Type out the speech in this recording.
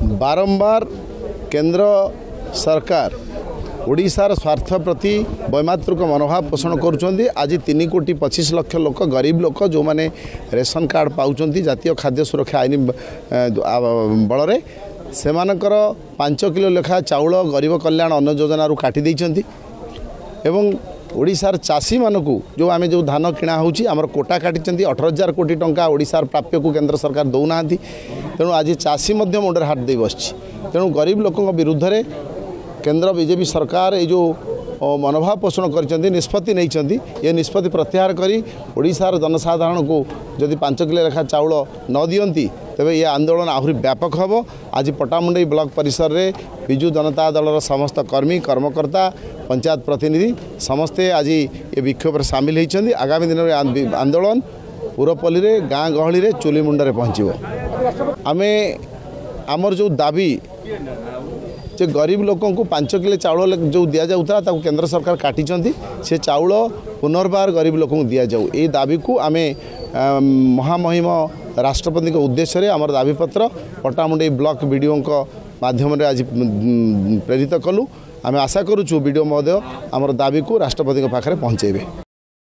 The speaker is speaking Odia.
ବାରମ୍ବାର କେନ୍ଦ୍ର ସରକାର ଓଡ଼ିଶାର ସ୍ୱାର୍ଥ ପ୍ରତି ବୈମାତୃକ ମନୋଭାବ ପୋଷଣ କରୁଛନ୍ତି। ଆଜି 3 କୋଟି 25 ଲକ୍ଷ ଲୋକ, ଗରିବ ଲୋକ, ଯେଉଁମାନେ ରେସନ କାର୍ଡ଼ ପାଉଛନ୍ତି ଜାତୀୟ ଖାଦ୍ୟ ସୁରକ୍ଷା ଆଇନ ବଳରେ, ସେମାନଙ୍କର 5 କିଲୋ ଲେଖା ଚାଉଳ ଗରିବ କଲ୍ୟାଣ ଅନ୍ନ ଯୋଜନାରୁ କାଟି ଦେଇଛନ୍ତି ଏବଂ ଓଡ଼ିଶାର ଚାଷୀମାନଙ୍କୁ ଯେଉଁ ଆମେ ଯେଉଁ ଧାନ କିଣା ହେଉଛି, ଆମର କୋଟା କାଟିଛନ୍ତି। 18,000 କୋଟି ଟଙ୍କା ଓଡ଼ିଶାର ପ୍ରାପ୍ୟକୁ କେନ୍ଦ୍ର ସରକାର ଦେଉନାହାନ୍ତି। ତେଣୁ ଆଜି ଚାଷୀ ମଧ୍ୟ ମୁଣ୍ଡରେ ହାତ ଦେଇ ବସିଛି। ତେଣୁ ଗରିବ ଲୋକଙ୍କ ବିରୁଦ୍ଧରେ କେନ୍ଦ୍ର ବିଜେପି ସରକାର ଏଇ ଯେଉଁ ମନୋଭାବ ପୋଷଣ କରିଛନ୍ତି, ନିଷ୍ପତ୍ତି ନେଇଛନ୍ତି, ଏ ନିଷ୍ପତ୍ତି ପ୍ରତ୍ୟାହାର କରି ଓଡ଼ିଶାର ଜନସାଧାରଣଙ୍କୁ ଯଦି 5 କିଲୋ ଲେଖା ଚାଉଳ ନ ଦିଅନ୍ତି, ତେବେ ଏ ଆନ୍ଦୋଳନ ଆହୁରି ବ୍ୟାପକ ହେବ। ଆଜି ପଟ୍ଟାମୁଣ୍ଡାଇ ବ୍ଲକ ପରିସରରେ ବିଜୁ ଜନତା ଦଳର ସମସ୍ତ କର୍ମୀ, କର୍ମକର୍ତ୍ତା, ପଞ୍ଚାୟତ ପ୍ରତିନିଧି ସମସ୍ତେ ଆଜି ଏ ବିକ୍ଷୋଭରେ ସାମିଲ ହୋଇଛନ୍ତି। ଆଗାମୀ ଦିନରେ ଆନ୍ଦୋଳନ ପୁରପଲ୍ଲୀରେ, ଗାଁ ଗହଳିରେ, ଚୁଲି ମୁଣ୍ଡରେ ପହଞ୍ଚିବ। ଆମେ ଆମର ଯେଉଁ ଦାବି ଯେ ଗରିବ ଲୋକଙ୍କୁ 5 କିଲୋ ଚାଉଳ ଯେଉଁ ଦିଆଯାଉଥିଲା, ତାକୁ କେନ୍ଦ୍ର ସରକାର କାଟିଛନ୍ତି, ସେ ଚାଉଳ ପୁନର୍ବାର ଗରିବ ଲୋକଙ୍କୁ ଦିଆଯାଉ। ଏଇ ଦାବିକୁ ଆମେ ମହାମହିମ ରାଷ୍ଟ୍ରପତିଙ୍କ ଉଦ୍ଦେଶ୍ୟରେ ଆମର ଦାବିପତ୍ର ପଟ୍ଟାମୁଣ୍ଡାଇ ବ୍ଲକ ବିଡ଼ିଓଙ୍କ ମାଧ୍ୟମରେ ଆଜି ପ୍ରେରିତ କଲୁ। ଆମେ ଆଶା କରୁଛୁ ବିଡ଼ିଓ ମହୋଦୟ ଆମର ଦାବିକୁ ରାଷ୍ଟ୍ରପତିଙ୍କ ପାଖରେ ପହଞ୍ଚାଇବେ।